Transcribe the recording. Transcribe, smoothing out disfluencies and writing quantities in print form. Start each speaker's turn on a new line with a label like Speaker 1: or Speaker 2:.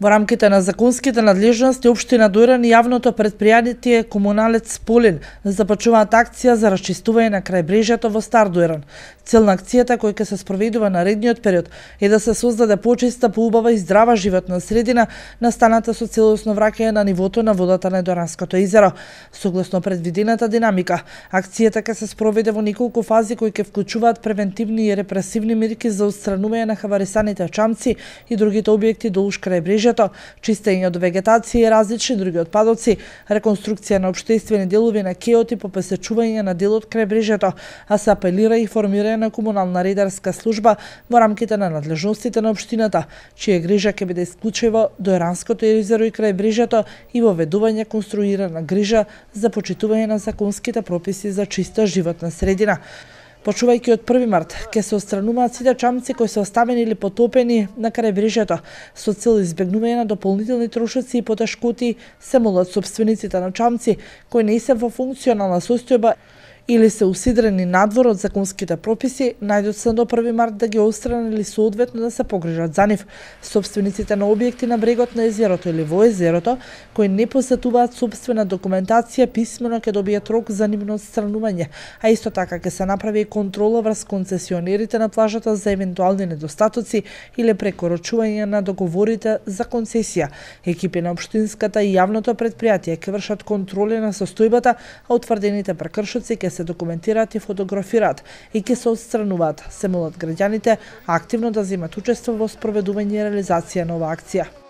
Speaker 1: Во рамките на законските надлежности, општина Дојран и јавното претпријатие Комуналец Полин започнуваат акција за расчистување на крајбрежјето во Стар Дојран. Цел на акцијата, која ќе се спроведува наредниот период, е да се создаде почиста, поубава и здрава животна средина, настаната со целосно враќање на нивото на водата на Дојранското езеро. Согласно предвидената динамика, акцијата ќе се спроведе во неколку фази кои ќе вклучуваат превентивни и репресивни мерки за отстранување на хаварисаните чамци и другите објекти долж крајбрежјето, чистење од вегетација и различни други отпадоци, реконструкција на општествени делови на кеоти по посечување на дел од крајбрежјето, а се апелира и формирање на комунална редарска служба во рамките на надлежностите на општината, чија грижа ќе биде исклучиво Дојранското езеро и крајбрежјето и воведување конструирана грижа за почитување на законските прописи за чиста животна средина. Почувајќи од 1 март, ќе се отстрануваат сите чамци кои се оставени или потопени на крајбрежјето, со цел избегнување на дополнителни трошоци и потешкоти, се молат сопствениците на чамци кои не се во функционална состојба или се усидрени надвор од законските прописи, најдоцна до 1 март да ги отстранат или соодветно да се погрижат за нив. Сопствениците на објекти на брегот на езерото или во езерото, кои не посетуваат сопствена документација, писмено ќе добијат рок за нивно отстранување, а исто така ќе се направи и контрола врз концесионерите на плажата за евентуални недостатоци или прекорачување на договорите за концесија. Екипи на општинската и јавното претпријатие ќе вршат контроли на состојбата, а утврдените прекршоци ќе се документираат и фотографираат и ќе се отстрануваат. Се молат граѓаните активно да земат учество во спроведување и реализација на оваа акција.